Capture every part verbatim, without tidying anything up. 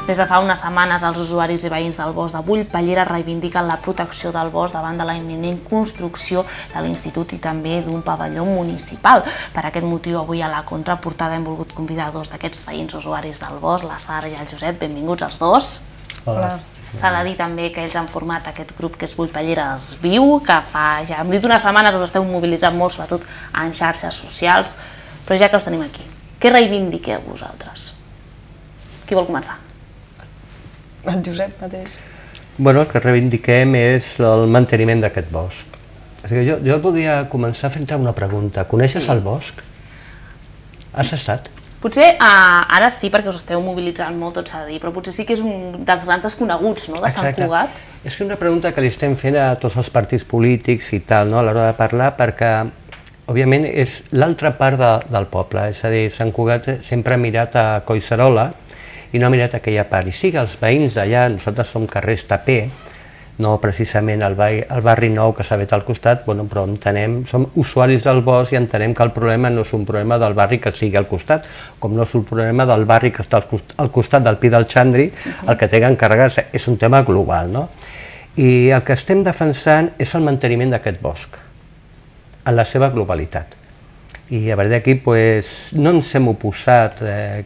Des de fa unes setmanes, els usuaris i veïns del bosc de Bullpallera reivindiquen la protecció del bosc davant de la imminent construcció de l'Institut i també d'un pavelló municipal. Per aquest motiu, avui a la contraportada hem volgut convidar dos d'aquests veïns usuaris del bosc, la Sara i el Josep. Benvinguts els dos. Hola. S'ha de dir també que ells han format aquest grup que és Bullpallera es viu, que fa, ja hem dit unes setmanes, us esteu mobilitzant molt, sobretot en xarxes socials, però ja que us tenim aquí, què reivindiqueu vosaltres? Qui vol començar? El Josep mateix. Bueno, el que reivindiquem és el manteniment d'aquest bosc. O sigui, jo, jo podria començar fent-te una pregunta. Coneixes el bosc? Has estat? Potser uh, ara sí, perquè us esteu mobilitzant molt, tot s'ha de dir, però potser sí que és un dels grans desconeguts, no?, de Sant Cugat. És que una pregunta que li estem fent a tots els partits polítics i tal, no?, a l'hora de parlar, perquè, òbviament, és l'altra part de, del poble. És a dir, Sant Cugat sempre ha mirat a Collserola i no ha mirat aquella part. I sí que els veïns d'allà, nosaltres som carrers Taper, no precisament el barri, el barri nou que s'ha fet al costat, bueno, però entenem, som usuaris del bosc i entenem que el problema no és un problema del barri que sigui al costat, com no és un problema del barri que està al costat del Pi del Xandri, el que té que encarregar-se, és un tema global, no? I el que estem defensant és el manteniment d'aquest bosc, en la seva globalitat. I a partir d'aquí no ens hem oposat,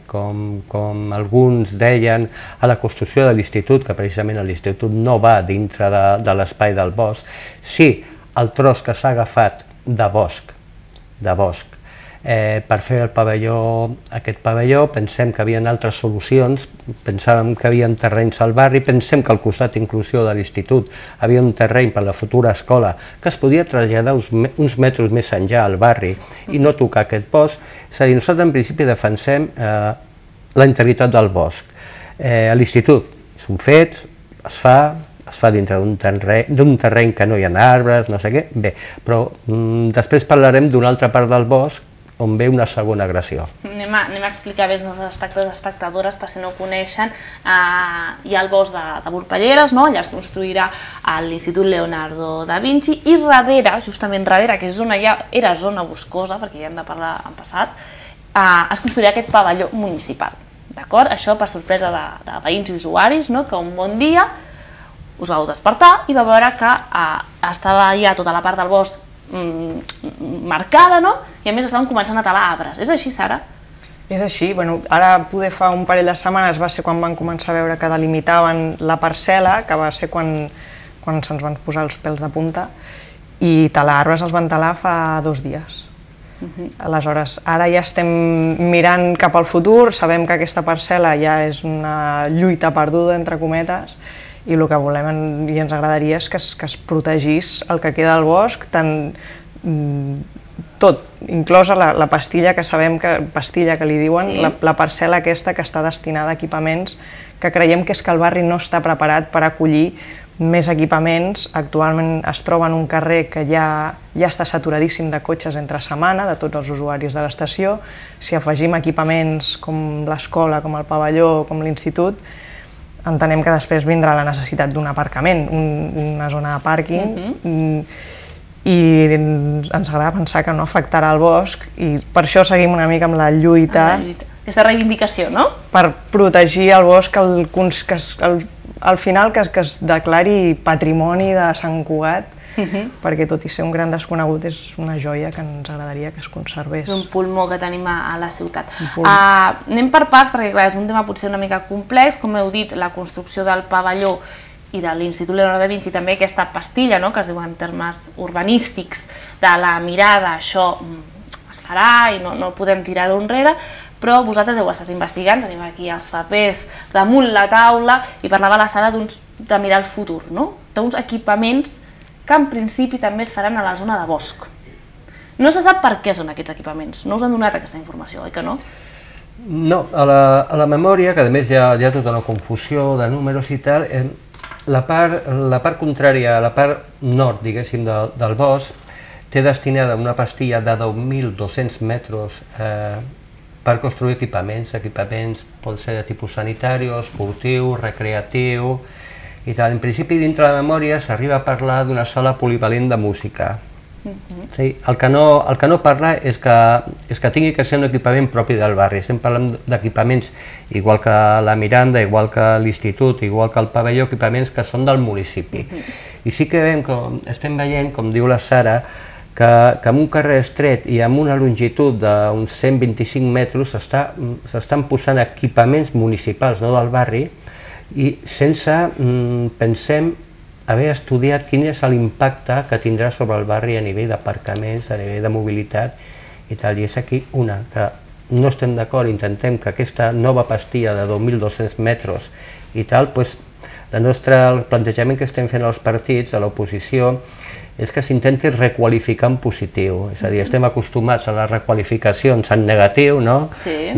com alguns deien, a la construcció de l'institut, que precisament l'institut no va dintre de l'espai del bosc. Sí, el tros que s'ha agafat de bosc, de bosc, per fer el pavelló, aquest pavelló, pensem que hi havia altres solucions, pensàvem que hi havia terrenys al barri, pensem que al costat inclusió de l'institut hi havia un terreny per a la futura escola que es podia traslladar uns metres més enllà al barri i no tocar aquest bosc. És a dir, nosaltres en principi defensem la integritat del bosc. L'institut és un fet, es fa, es fa dintre d'un terreny que no hi ha arbres, no sé què, bé, però després parlarem d'una altra part del bosc on ve una segona agressió. Anem a, anem a explicar bé als nostres espectadors i espectadores, per si no ho coneixen. Uh, hi ha el bosc de, de Bullpalleres, no? Allà es construirà l'Institut Leonardo da Vinci, i darrere, justament darrere, que és zona, ja era zona boscosa, perquè ja hem de parlar en passat, uh, es construirà aquest pavelló municipal. D'acord? Això per sorpresa de, de veïns i usuaris, no? Que un bon dia us vau despertar i va veure que uh, estava ja tota la part del bosc marcada, no? I a més estaven començant a talar arbres. És així, Sara? És així. Ara, poder fa un parell de setmanes, va ser quan van començar a veure que delimitaven la parcel·la, que va ser quan se'ns van posar els pèls de punta, i talar arbres els van talar fa dos dies. Aleshores, ara ja estem mirant cap al futur, sabem que aquesta parcel·la ja és una lluita perduda, entre cometes, i el que volem i ens agradaria és que es protegís el que queda del bosc, tant tot, inclosa la pastilla que sabem, pastilla que li diuen, la parcel·la aquesta que està destinada a equipaments, que creiem que és que el barri no està preparat per acollir més equipaments. Actualment es troba en un carrer que ja està saturadíssim de cotxes entre setmana, de tots els usuaris de l'estació. Si afegim equipaments com l'escola, com el pavelló, com l'institut, entenem que després vindrà la necessitat d'un aparcament, una zona de pàrquing, i ens agrada pensar que no afectarà el bosc, i per això seguim una mica amb la lluita. Aquesta reivindicació, no? Per protegir el bosc, al final que es declari patrimoni de Sant Cugat, perquè tot i ser un gran desconegut és una joia que ens agradaria que es conservés. És un pulmó que tenim a la ciutat. Anem per parts, perquè és un tema potser una mica complex, com heu dit, la construcció del pavelló i de l'Institut Leonardo da Vinci, també aquesta pastilla, que es diu en termes urbanístics, de la mirada, això es farà i no podem tirar d'enrere, però vosaltres heu estat investigant, tenim aquí els papers damunt la taula, i parlava la Sara de mirar el futur, d'uns equipaments que en principi també es faran a la zona de bosc. No se sap per què són aquests equipaments, no us han donat aquesta informació, oi que no? No, a la memòria, que a més hi ha tota una confusió de números i tal, la part contrària, la part nord, diguéssim, del bosc, té destinada una pastilla de deu mil dos-cents metres per construir equipaments, equipaments poden ser de tipus sanitari, esportiu, recreatiu, i tal. En principi, dintre de la memòria, s'arriba a parlar d'una sala polivalent de música, Sí, el que no, el que no parla és que, és que tingui que ser un equipament propi del barri. Estem parlant d'equipaments igual que la Miranda, igual que l'Institut, igual que el pavelló, equipaments que són del municipi. I sí que veiem, com estem veient, com diu la Sara, que, que en un carrer estret i amb una longitud d'uns cent vint-i-cinc metres s'estan posant equipaments municipals, no del barri, i sense, mm, pensem, haver estudiat quin és l'impacte que tindrà sobre el barri a nivell d'aparcaments, a nivell de mobilitat i tal. I és aquí una, que no estem d'acord, intentem que aquesta nova pastilla de dos mil dos-cents metres i tal, doncs, el nostre plantejament que estem fent als partits, a l'oposició, és que s'intenti requalificar en positiu. És a dir, estem acostumats a les requalificacions en negatiu, no?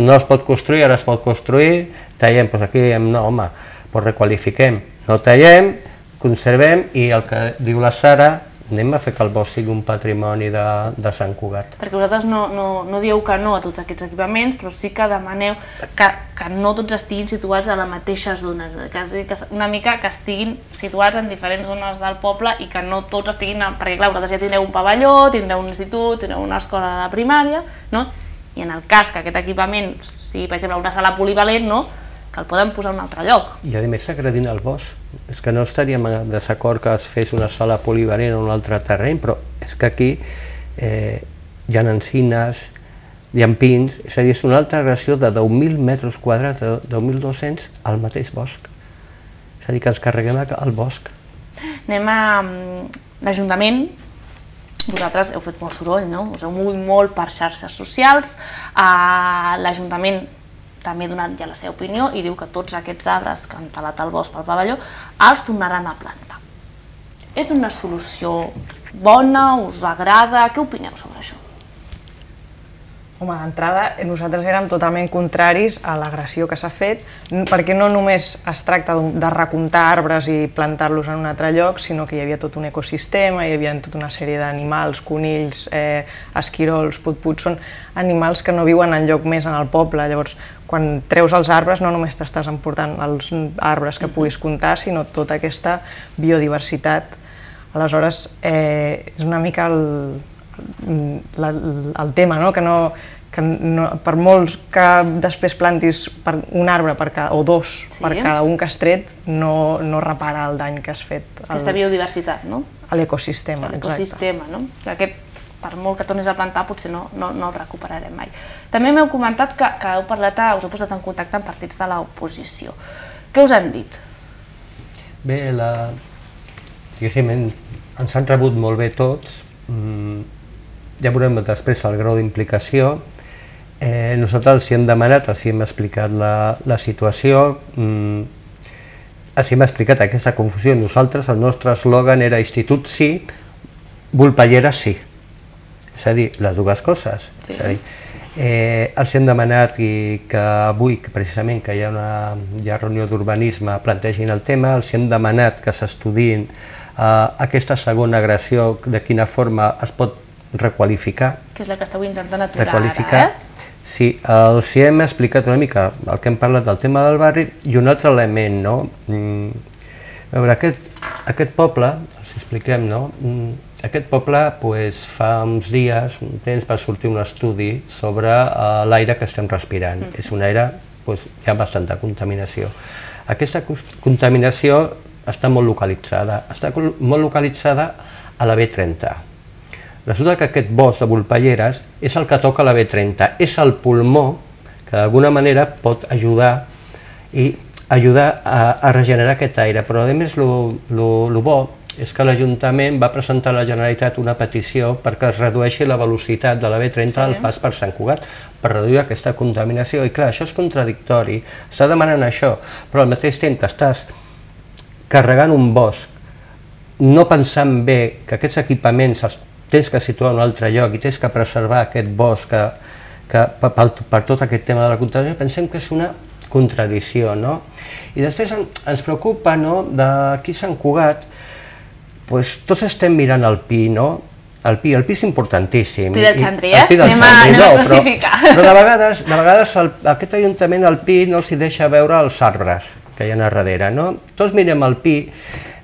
No es pot construir, ara es pot construir, tallem, doncs aquí diem, no, home, doncs requalifiquem, no tallem, conservem, i el que diu la Sara, anem a fer que el bosc sigui un patrimoni de, de Sant Cugat. Perquè vosaltres no, no, no dieu que no a tots aquests equipaments, però sí que demaneu que, que no tots estiguin situats a la mateixa zona, que, que una mica que estiguin situats en diferents zones del poble i que no tots estiguin, perquè clar, vosaltres ja tindreu un pavelló, tindreu un institut, tindreu una escola de primària, no? I en el cas que aquest equipament sigui, per exemple, una sala polivalent, no? Que el poden posar en un altre lloc. I a més s'agredint el bosc. És que no estaríem en desacord que es fes una sala polivalent en un altre terreny, però és que aquí eh, hi ha encines, hi ha pins, és a dir, és una altra agressió de deu mil metres quadrats, de deu mil dos-cents al mateix bosc. És a dir, que ens carreguem el bosc. Anem a l'Ajuntament. Vosaltres heu fet molt soroll, no? Us heu mogut molt per xarxes socials. L'Ajuntament també ha donat ja la seva opinió i diu que tots aquests arbres que han talat el bosc pel pavelló els tornaran a plantar. És una solució bona? Us agrada? Què opineu sobre això? Home, d'entrada, nosaltres érem totalment contraris a l'agressió que s'ha fet, perquè no només es tracta de recomptar arbres i plantar-los en un altre lloc, sinó que hi havia tot un ecosistema, hi havia tota una sèrie d'animals, conills, eh, esquirols, put-puts, són animals que no viuen enlloc més en el poble. Llavors, quan treus els arbres, no només t'estàs emportant els arbres que puguis comptar, sinó tota aquesta biodiversitat. Aleshores, eh, és una mica el, el, el tema, no? Que, no, que no, per molts que després plantis per un arbre per cada, o dos sí. per cada un que has tret, no, no repara el dany que has fet. Aquesta el, biodiversitat, no? A l'ecosistema, exacte. L'ecosistema, no? Aquest, per molt que tornis a plantar, potser no, no, no el recuperarem mai. També m'heu comentat que, que heu parlat, us heu posat en contacte amb partits de l'oposició. Què us han dit? Bé, la... diguéssim, ens han rebut molt bé tots. Mm, ja veurem després el grau d'implicació. Eh, nosaltres els hi hem demanat, els hi hem explicat la, la situació, mm, els hi hem explicat aquesta confusió. Nosaltres, el nostre eslògan era Institut sí, Volpellera sí. És a dir, les dues coses. Sí. És a dir, eh, els hem demanat i que avui, que precisament que hi ha una hi ha reunió d'urbanisme, plantegin el tema, els hem demanat que s'estudiïn eh, aquesta segona agressió, de quina forma es pot requalificar. Que és la que esteu intentant aturar ara, eh? Sí, els hem explicat una mica el que hem parlat del tema del barri i un altre element, no? Mm, a veure, aquest, aquest poble, els expliquem, no? Mm, Aquest poble pues, fa uns dies, un temps, va sortir un estudi sobre uh, l'aire que estem respirant. Mm. És un aire, pues, hi ha bastanta contaminació. Aquesta contaminació està molt localitzada, està molt localitzada a la B trenta. Resulta que aquest bosc de Volpelleres és el que toca la B trenta, és el pulmó que d'alguna manera pot ajudar i ajudar a, a regenerar aquest aire, però a més el bo és que l'Ajuntament va presentar a la Generalitat una petició perquè es redueixi la velocitat de la B trenta al pas per Sant Cugat, per reduir aquesta contaminació. I clar, això és contradictori, està demanant això, però al mateix temps que estàs carregant un bosc, no pensant bé que aquests equipaments els tens que situar en un altre lloc i tens que preservar aquest bosc que, que, per, per tot aquest tema de la contaminació, pensem que és una contradicció, no? I després ens preocupa, no?, d'aquí Sant Cugat, pues tots estem mirant el Pi, no? El Pi, el Pi és importantíssim. Pi del Xandri, eh? Anem a especificar. Però de vegades, de vegades aquest Ajuntament, el Pi, no s'hi deixa veure els arbres que hi ha a darrere, no? Tots mirem el Pi,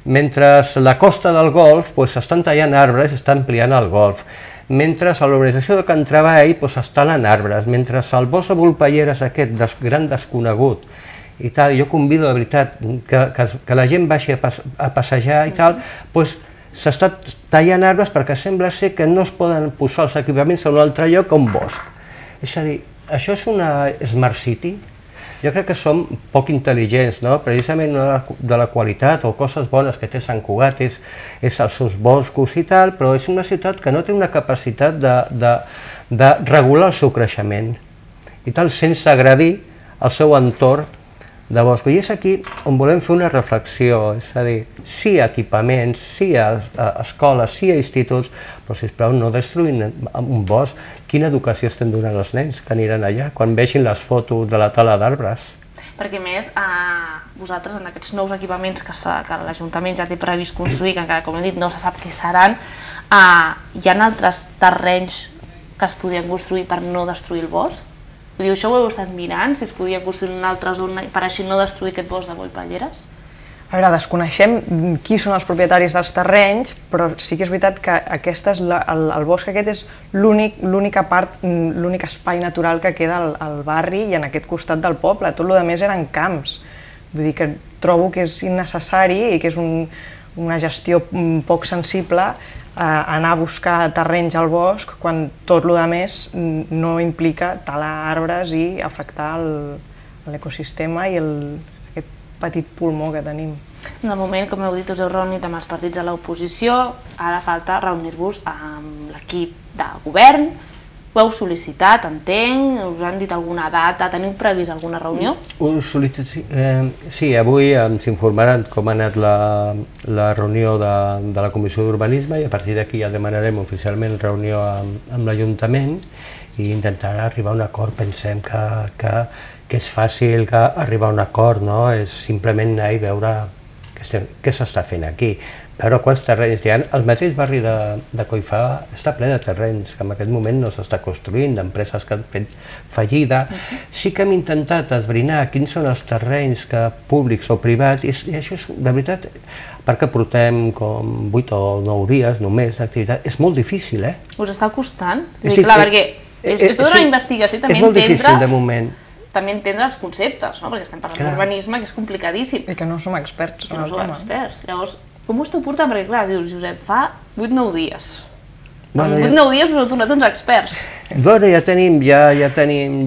Mentre la costa del golf s'estan tallant arbres i estan ampliant el golf. Mentre a l'organització de Can Treball es talen arbres. Mentre al bosc de Volpelleres, aquest gran desconegut, i tal, jo convido, de veritat, que la gent baixi a passejar i tal, doncs s'està tallant arbres perquè sembla ser que no es poden posar els equipaments a un altre lloc que un bosc. És a dir, això és una Smart City? Jo crec que som poc intel·ligents, no? Precisament una de la qualitat o coses bones que té Sant Cugat és els seus boscos i tal, però és una ciutat que no té una capacitat de regular el seu creixement i tal, sense agredir el seu entorn de bosc. I és aquí on volem fer una reflexió, és a dir, sí a equipaments, sí a escoles, sí a instituts, però sisplau no destruïn un bosc. Quina educació estem donant als nens que aniran allà quan vegin les fotos de la tala d'arbres? Perquè a més, vosaltres en aquests nous equipaments que l'Ajuntament ja té previst construir, que encara, com hem dit, no se sap què seran, hi ha altres terrenys que es podrien construir per no destruir el bosc? Vull dir, això ho heu estat mirant, si es podia construir en una altra zona per així no destruir aquest bosc de Volpelleres? A veure, desconeixem qui són els propietaris dels terrenys, però sí que és veritat que el bosc aquest és l'única part, l'únic espai natural que queda al barri i en aquest costat del poble. Tot el més eren camps. Vull dir que trobo que és innecessari i que és una gestió poc sensible anar a buscar terrenys al bosc quan tot el més no implica talar arbres i afectar l'ecosistema i aquest petit pulmó que tenim. De moment, com heu dit, us heu reunit amb els partits de l'oposició, ara falta reunir-vos amb l'equip de govern. Ho heu sol·licitat, entenc, us han dit alguna data, teniu previst alguna reunió? Sí, avui ens informaran com ha anat la reunió de la Comissió d'Urbanisme i a partir d'aquí ja demanarem oficialment reunió amb l'Ajuntament i intentarà arribar a un acord. Pensem que és fàcil arribar a un acord, és simplement anar i veure què s'està fent aquí. Però quants terrenys hi ha? El mateix barri de Coifà està ple de terrenys que en aquest moment no s'està construint, d'empreses que han fet fallida. Sí que hem intentat esbrinar quins són els terrenys públics o privats i això és, de veritat, perquè portem com vuit o nou dies només d'activitat, és molt difícil, eh? Us està costant? És clar, perquè és tota una investigació i també entendre... És molt difícil, de moment. També entendre els conceptes, perquè estem parlant d'urbanisme, que és complicadíssim. I que no som experts. Que no som experts. Llavors, com ho esteu portant? Perquè, clar, dius, Josep, fa vuit o nou dies. En vuit o nou dies us heu tornat uns experts. Bueno, ja tenim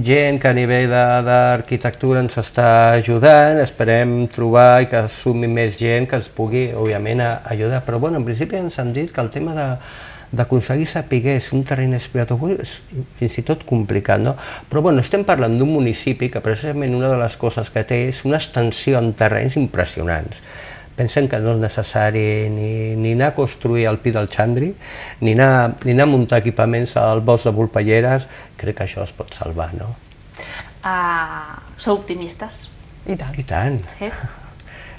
gent que a nivell d'arquitectura ens està ajudant, esperem trobar i que sumi més gent que ens pugui, òbviament, ajudar. Però, bueno, en principi ens han dit que el tema d'aconseguir saber si un terreny és privat o públic és fins i tot complicat, no? Però, bueno, estem parlant d'un municipi que precisament una de les coses que té és una extensió en terrenys impressionants. Pensem que no és necessari ni anar a construir al Pi del Xandri, ni anar a muntar equipaments al bosc de Volpelleres, crec que això es pot salvar, no? Sou optimistes? I tant. I tant.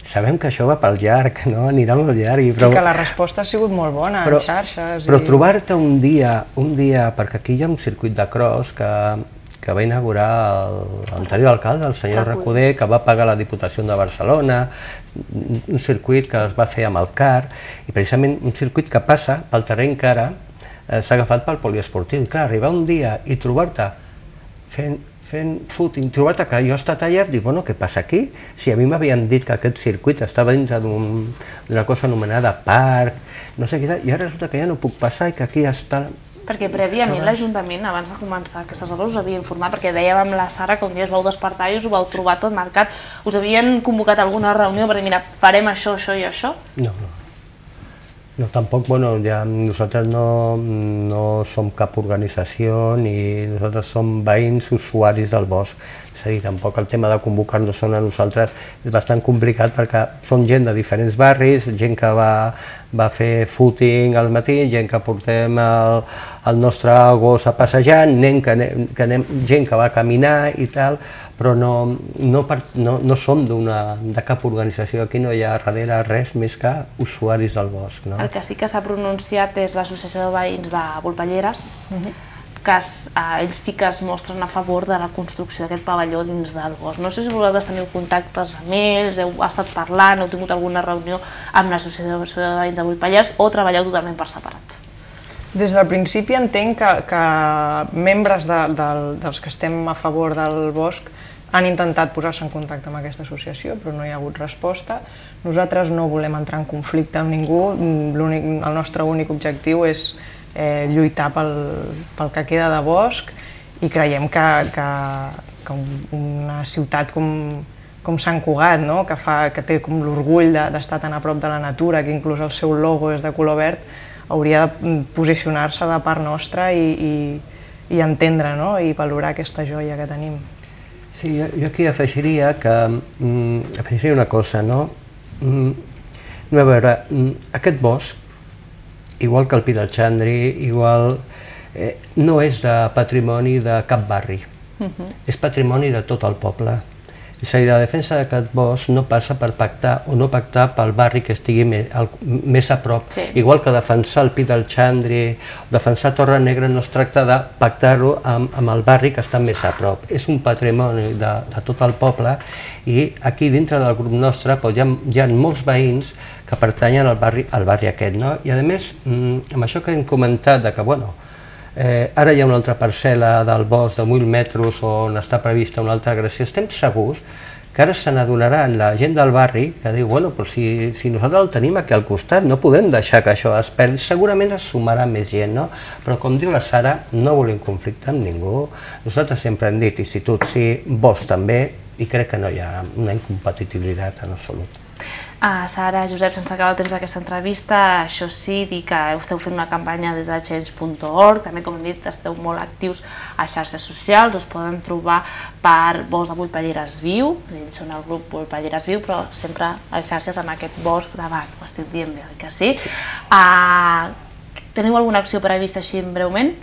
Sabem que això va pel llarg, no? Anirà molt llarg. I que la resposta ha sigut molt bona en xarxes. Però trobar-te un dia, un dia, perquè aquí hi ha un circuit de cross que que va inaugurar l'anterior alcalde, el senyor Recoder, que va pagar la Diputació de Barcelona, un circuit que es va fer amb el C A R, i precisament un circuit que passa pel terreny que ara s'ha agafat pel poliesportiu. I clar, arribar un dia i trobar-te fent footing, trobar-te que allò està tallat, dir, bueno, què passa aquí? Si a mi m'havien dit que aquest circuit estava dins d'una cosa anomenada parc, no sé què, i ara resulta que ja no puc passar i que aquí està... Perquè prèviament l'Ajuntament, abans de començar aquestes obres, us havia informat, perquè dèiem amb la Sara que un dia us vau despertar i us ho vau trobar tot marcat. Us havien convocat alguna reunió per dir, mira, farem això, això i això? No, no. No, tampoc, bueno, ja nosaltres no som cap organització ni nosaltres som veïns usuaris del bosc. És a dir, tampoc el tema de convocar-nos a nosaltres és bastant complicat perquè són gent de diferents barris, gent que va fer footing al matí, gent que portem el nostre gos a passejar, gent que va caminar i tal, però no som de cap organització, aquí no hi ha darrere res més que usuaris del bosc. El que sí que s'ha pronunciat és l'Associació de Veïns de Volpelleres, que ells sí que es mostren a favor de la construcció d'aquest pavelló dins del bosc. No sé si vosaltres teniu contactes amb ells, heu estat parlant, heu tingut alguna reunió amb l'Associació de Veïns de Vullpallars o treballeu totalment per separat? Des del principi entenc que, que membres de, de, dels que estem a favor del bosc han intentat posar-se en contacte amb aquesta associació, però no hi ha hagut resposta. Nosaltres no volem entrar en conflicte amb ningú, el nostre únic objectiu és eh, lluitar pel, pel que queda de bosc i creiem que, que, que una ciutat com, com Sant Cugat, no? que, fa, que té com l'orgull d'estar tan a prop de la natura, que inclús el seu logo és de color verd, hauria de posicionar-se de part nostra i, i, i entendre, no? I valorar aquesta joia que tenim. Sí, jo, jo aquí afegiria que mm, afegiria una cosa, no? Mm, a veure, mm, aquest bosc, igual que el Pi del Xandri, igual, eh, no és de patrimoni de cap barri, uh-huh. és patrimoni de tot el poble. És a dir, la defensa d'aquest bosc no passa per pactar o no pactar pel barri que estigui més, el, més a prop. Sí. Igual que defensar el Pi del Xandri, defensar Torre Negra no es tracta de pactar-ho amb, amb el barri que està més a prop. És un patrimoni de, de tot el poble i aquí dintre del grup nostre doncs, hi, ha, hi ha molts veïns que pertanyen al barri, al barri aquest. No? I a més, amb això que hem comentat de que, bueno, Eh, ara hi ha una altra parcel·la del bosc de mil metres on està prevista una altra agressió, estem segurs que ara se n'adonaran la gent del barri que diu, bueno, però si, si nosaltres el tenim aquí al costat, no podem deixar que això es perdi, segurament es sumarà més gent, no? Però com diu la Sara, no volem conflicte amb ningú, nosaltres sempre hem dit institut sí, bosc també, i crec que no hi ha una incompatibilitat en absolut. Uh, Sara, Josep, sense acabar el temps d'aquesta entrevista, això sí, dir que esteu fent una campanya des de change punt org, també, com hem dit, esteu molt actius a xarxes socials, us poden trobar per Bosc de Vullpalleres Viu, són el grup Vullpalleres Viu, però sempre a xarxes amb aquest bosc davant, ho estic dient bé, que sí? Uh, teniu alguna acció prevista així breument?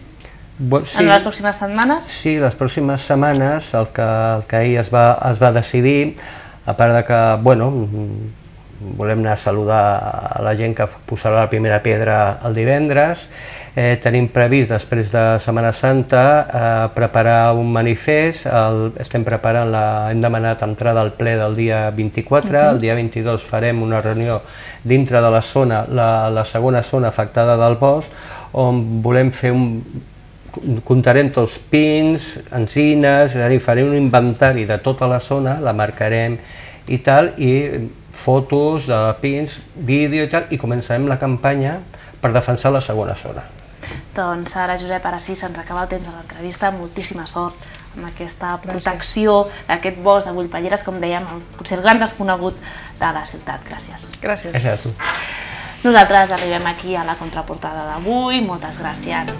Bon, sí, en les pròximes setmanes? Sí, les pròximes setmanes, el que, el que ahir es va, es va decidir, a part de que, bueno, volem anar a saludar a la gent que posarà la primera pedra el divendres. Eh, tenim previst, després de Setmana Santa, eh, preparar un manifest. El, estem preparant, la, hem demanat entrada al ple del dia vint-i-quatre, uh-huh. El dia vint-i-dos farem una reunió dintre de la zona, la, la segona zona afectada del bosc, on volem fer un... comptarem tots pins, enzines, és a dir, farem un inventari de tota la zona, la marcarem i tal, i fotos de pins, vídeo i tal, i començarem la campanya per defensar la segona zona. Doncs ara, Josep, ara sí, se'ns acaba el temps de l'entrevista, moltíssima sort amb aquesta protecció d'aquest bosc de Vullpalleres, com dèiem, potser el gran desconegut de la ciutat. Gràcies. Gràcies. Gràcies a tu. Nosaltres arribem aquí a la contraportada d'avui, moltes gràcies.